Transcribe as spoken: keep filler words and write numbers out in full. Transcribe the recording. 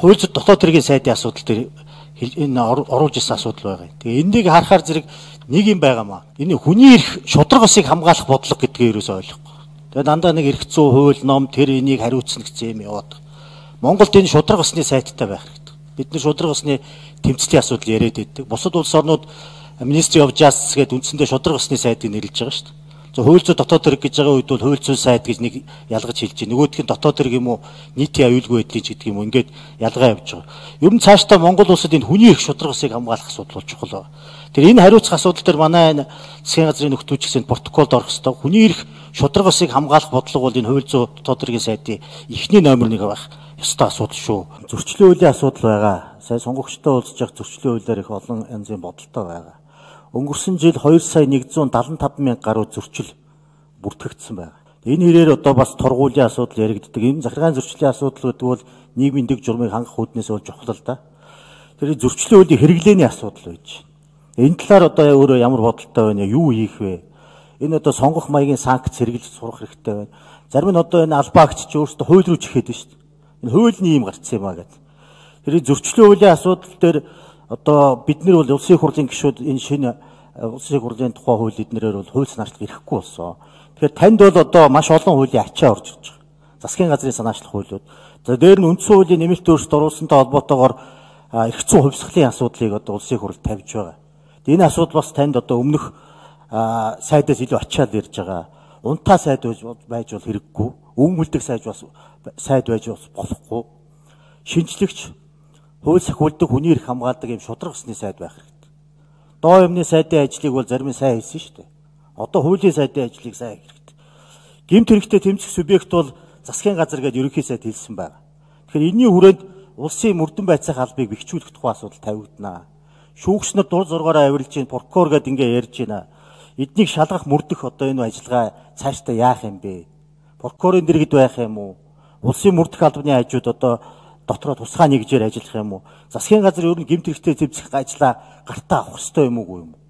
хууль зүйн дотоод хэргийн сайдын асуудал дээр энэ оруулж ирсэн асуудал байгаа. Тэгээ энийг харахаар зэрэг нэг юм байгаамаа. Энэ хүний эрх шударгасыг хамгаалах бодлого гэдгийг ерөөсөй ойлгохгүй. Тэгээ дандаа нэг эрх зүйн хууль ном тэр энийг хариуцна гэсэн юм яваад. Монголд энэ шударгасны сайттай байх хэрэгтэй. Бид нар шударгасны тэмцлийн асуудал яриад байдаг. Бусад улс орнууд Ministry of Justice гэдэг үндсэндээ шударгасны сайдыг нэрлэж байгаа шүү дээ. За хууль зүйн дотоод хэрэг гэж байгаа үед бол хууль зүйн сайд гэж нэг ялгаж хэлж байна. Нөгөөх нь дотоод хэрэг юм уу нийтийн аюулгүй байдлын ч гэдэг юм уу ингээд ялгаа явж байгаа. Ер нь цаашдаа Монгол улсад энэ хүний эрх шударгасыг хамгаалах асуудал болж чухал байна. Тэр энэ хариуцах асуудал дээр манай засгийн газрын нөхцөлч гэсэн протоколд орох ёстой. Хүний эрх шударгасыг хамгаалах бодлого бол энэ хууль зүйн дотоод хэргийн сайдын эхний номер нэг байх ёстой асуудал шүү. Зөрчлийн хуулийн асуудал байгаа. Сая сонгогчтой уулзж явах зөрчлийн хуулиар их олон янзын бодолтой байгаа. Өнгөрсөн жил хоёр сая нэгдүгээр даван таван мянга гаруй зөрчил бүртгэгдсэн байна. Энэ хэрээр одоо бас тургуулийн асуудал яригддаг. Энэ захиргааны зөрчлийн асуудал гэдэг бол нийгмийн дэг журмыг хангах үүднээс бол чухал л да. Тэр зөрчлийн хуулийн хэрэглээний асуудал байж байна. Энэ талаар одоо өөрөө ямар бодолтой байна, юу хийх вэ? Энэ одоо сонгох маягийн санкц хэрэгжилж сурах хэрэгтэй байна. Зарим нь одоо энэ албаагч ч өөрсдөө хууль руу чихээд байна шүү дээ. Энэ хуулийн юм гарцсан юм аа гэдэг. Тэр зөрчлийн хуулийн асуудал дээр одоо бид нар бол улсын хурлын гишүүд энэ шинэ улсын хурлын тухай хууль эднэрээр бол хууль санаачлах ирэхгүй болсон. Тэгэхээр танд бол одоо маш олон хуулийн ачаа орж ирж байгаа. Засгийн газрын санаачлах хуулиуд. За дээр нь үндсэн хуулийн нэмэлт өөрчлөлт оруулсантай холбоотойгоор эрх зүйн хувьсгалын асуудлыг одоо улсын хурлд тавьж байгаа. Энэ асуудал бас танд одоо өмнөх сайдаас илүү ачаал ирж байгаа. Унтаа сайд байж бол хэрэггүй. Өнгөлдөг сайд бас сайд байж бас болохгүй. Шинжлэгч хууль сахиулдаг хүний эрх хамгаалдаг юм шударгасны сайд байх хэрэгтэй. Доо юмны сайдын ажлыг бол зарим нь сайн хийсэн шүү дээ. Одоо хуулийн сайдын ажлыг сайн хийх хэрэгтэй. Гэмт хэрэгтээ тэмцэх субъект бол засгийн газар гэдэг ерөнхий сайд хэлсэн байна. Тэгэхээр энэний хүрээнд улсын мөрдөн байцаах албыг бэхжүүлэх тухай асуудал тавигдана. Шүүгчнэр дур зургаараа авирлж чинь прокурор гэдэг ингээ ярьж байна. Эднийг шалгах мөрдөх одоо энэ ажиллагаа цаашдаа яах юм бэ? Прокурорын дэргэд байх юм уу? Улсын мөрдөх албаны хажууд одоо дотроо тусгай нэгжээр ажиллах юм уу? Засгийн газар ер нь гэмт хэрэгтээ зэвсэх ажлаа гартаа авах ёстой юм уу?